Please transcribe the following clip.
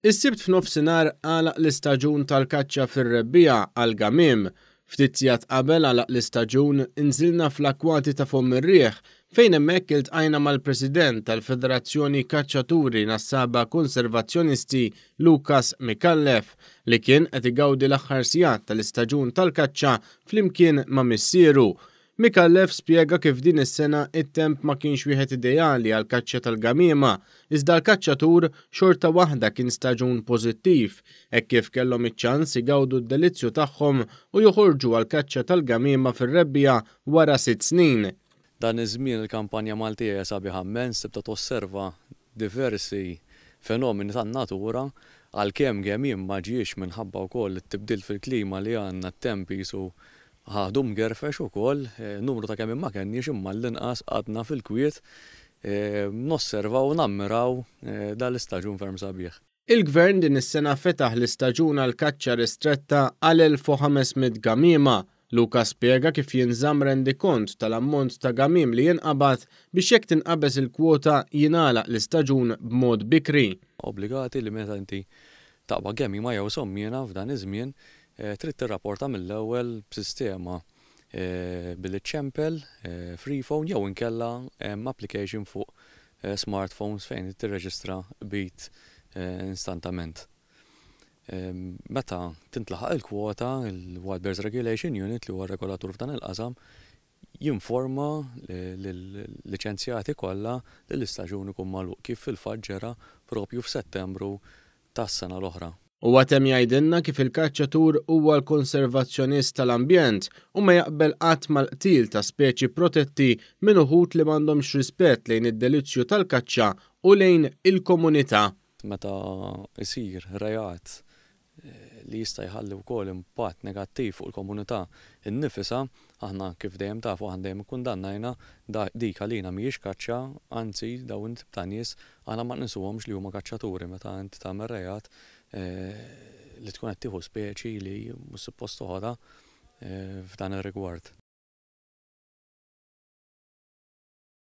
Is-Sibt f'nofsinhar għalaq l-istaġun tal-kaċċa fir-rebbiegħa għall-gamiem. Ftit sigħat qabel għalaq l-istaġun inżilna fl-akkwati ta' Fomm ir-Riħ fejn hemmhekk iltqajna mal-President tal-Federazzjoni Kaċċaturi Nassaba Konservazzjonisti Lucas Micallef li kien qed igawdi l-aħħar sigħat tal-istaġun tal-kaċċa flimkien ma' missieru. Micallef spjega kif din is-sena it-temp ma kienx wieħed ideali għall-kaċċa tal-gamiema, iżda l-kaċċatur xorta waħda kien staġun pożittiv, hekk kif kellhom iċ-ċans igawdu d-delizzju tagħhom u joħorġu għall-kaċċa tal-gamiema fir-rebbiegħa wara sitt snin. Dan iż-żmien il-kampanja Maltija hija sabiħa mmens, tibda tosserva diversi fenomeni tan-natura, għalkemm gemiem ma ġiex minħabba wkoll it-tibdil fil-klima li għandna t-temp qisu Ħadu mgerfex ukoll, numru ta' kemien ma kenniex imma għall-inqas qgħadna fil-kwiet nosservaw u nammiraw dan l-istaġun ferm sabiħ. Il-Gvern din is-sena fetaħ l-istaġun għall-kaċċa ristretta għal 1,500 gamiema. Luca spjega kif jinżamm rendikont tal-ammont ta' gamiem li jinqabad biex jekk tinqabeż il-kwota jingħalaq l-istaġun b'mod bikri. Obbligati li meta inti taqbad gamiema jew sommiena f'dan iż-żmien Trid tirrapporta mill-ewwel b'sistema billi ċċempel free phone jew inkella hemm application fuq smartphones fejn tirreġistra qbid instantament. Meta tintlaħaq il-kwota, il-Wild Birds Regulation Unit li huwa r-regolatur f'dan il-qasam jinforma lil-liċenzjati kollha li l-istaġun ikun magħluq kif fil-fatt ġara proprju f'Settembru tas-sena l-oħra. Huwa temm jgħidilna kif il-kaċċatur huwa l-konservazzjonist tal-ambjent u ma jaqbel qatt mal-qtil ta' speċi protetti minn uħud li m'għandhomx rispett lejn id-delizzju tal-kaċċa u lejn il-komunità. Meta jsir reat li jista' jħalli wkoll impatt negattiv fuq il-komunità nnifisha, aħna kif dejjem tafu aħna dejjem ikkundannajna, dik għalina mhijiex kaċċa, anzi dawn it-tip ta' nies aħna ma nqisuhomx li huma kaċċaturi meta inti tagħmel reat li tkun qed tieħu speċi li mhux suppost toħodha f'dan ir-rigward.